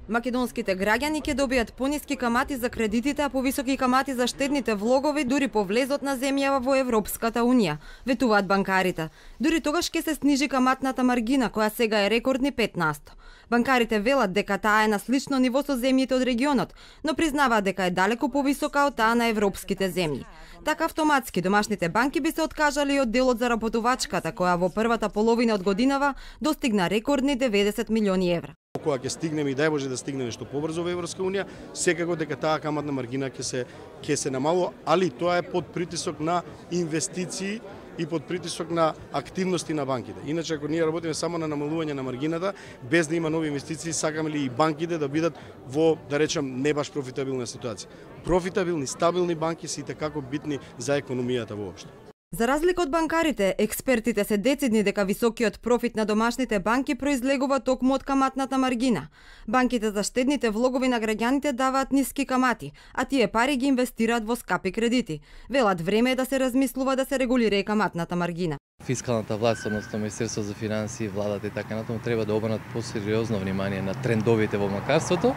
Македонските граѓани ќе добијат пониски камати за кредитите, а повисоки камати за штедните влогови дури по влезот на земјава во Европската унија, ветуваат банкарите. Дури тогаш ќе се снижи каматната маргина, која сега е рекордни 5%. Банкарите велат дека таа е на слично ниво со земјите од регионот, но признаваат дека е далеку повисока од таа на европските земји. Така автоматски домашните банки би се откажали од делот за работувачката, која во првата половина од годинава достигна рекордни 90 милиони евра. Кога ќе стигнеме и дај Боже да стигнеме што побрзо во Европска унија, секако дека таа каматна маргина ќе се намалува, али тоа е под притисок на инвестиции и под притисок на активности на банките. Иначе ако ние работиме само на намалување на маргината, без да има нови инвестиции, сакаме ли и банките да бидат во, да речем, не баш профитабилна ситуација. Профитабилни, стабилни банки се и такако битни за економијата воопшто. За разлика од банкарите, експертите се децидни дека високиот профит на домашните банки произлегува токму од каматната маргина. Банките за штедните влогови на граѓаните даваат ниски камати, а тие пари ги инвестираат во скапи кредити. Велат време е да се размислува да се регулира и каматната маргина. Фискалната власт, односно Министерството за финансии, владата и така натаму треба да обрнат посериозно внимание на трендовите во банкарството.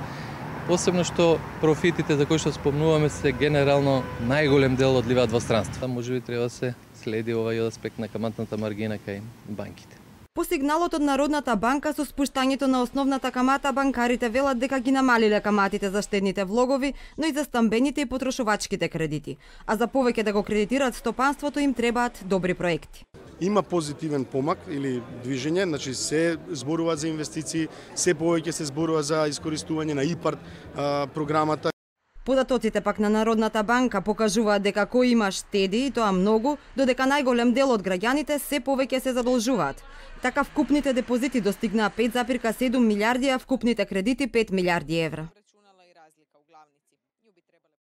Посебно што профитите за кои што спомнуваме се генерално најголем дел одливаат во странство. Можеби треба да се следи овој аспект на каматната маргина кај банките. По сигналот од Народната банка со спуштањето на основната камата, банкарите велат дека ги намалиле каматите за штедните влогови, но и за стамбените и потрошувачките кредити. А за повеќе да го кредитираат стопанството им требаат добри проекти. Има позитивен помак или движење, значи се зборува за инвестиции, се повеќе се зборува за искористување на ИПАРД програмата. Податоците пак на Народната банка покажуваат дека кој има штеди, и тоа многу, додека најголем дел од граѓаните се повеќе се задолжуваат. Така вкупните депозити достигнаа 5,7 милиарди, а вкупните кредити 5 милиарди евра.